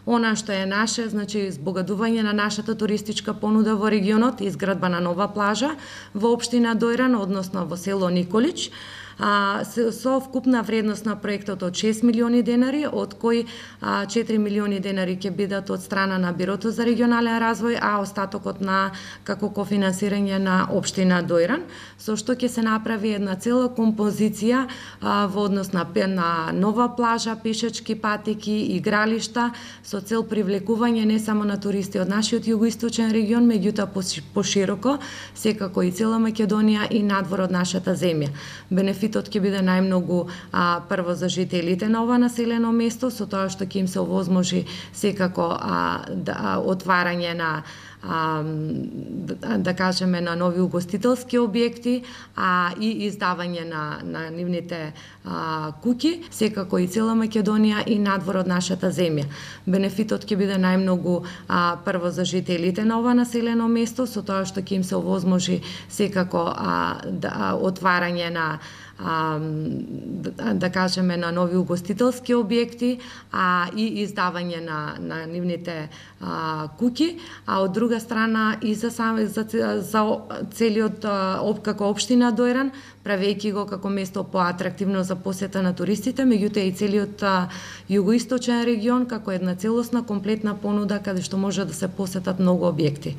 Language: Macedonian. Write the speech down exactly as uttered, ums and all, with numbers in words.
Она што е наше, значи збогадување на нашата туристичка понуда во регионот, изградба на нова плажа во општина Дојран, односно во село Николич, а, со вкупна вредност на проектот од шест милиони денари, од кои а, четири милиони денари ќе бидат од страна на Бирото за регионален развој, а остатокот на како кофинансирање на општина Дојран, со што ќе се направи една цела композиција а, во однос на, на нова плажа, пешачки патеки, игралишта, со цел привлекување не само на туристи од нашиот југоисточен регион, меѓутоа пошироко, секако и цела Македонија и надвор од нашата земја. Бенефитот ќе биде најмногу а, прво за жителите на ова населено место, со тоа што ќе им се овозможи секако а, да, отварање на А, да, да кажеме на нови угостителски објекти, а и издавање на, на нивните а, куќи, секако и цела Македонија и надвор од нашата земја. Бенефитот ќе биде најмногу а, прво за жителите на ова населено место, со тоа што ќе им се овозможи секако а, да, отварање на А, да, да кажеме на нови угостителски објекти, а и издавање на, на нивните а, куќи, а од друга страна и за, за, за целиот об, како општина Дојран, правејќи го како место поатрактивно за посета на туристите, меѓутоа и целиот а, југоисточен регион како една целосна комплетна понуда каде што може да се посетат многу објекти.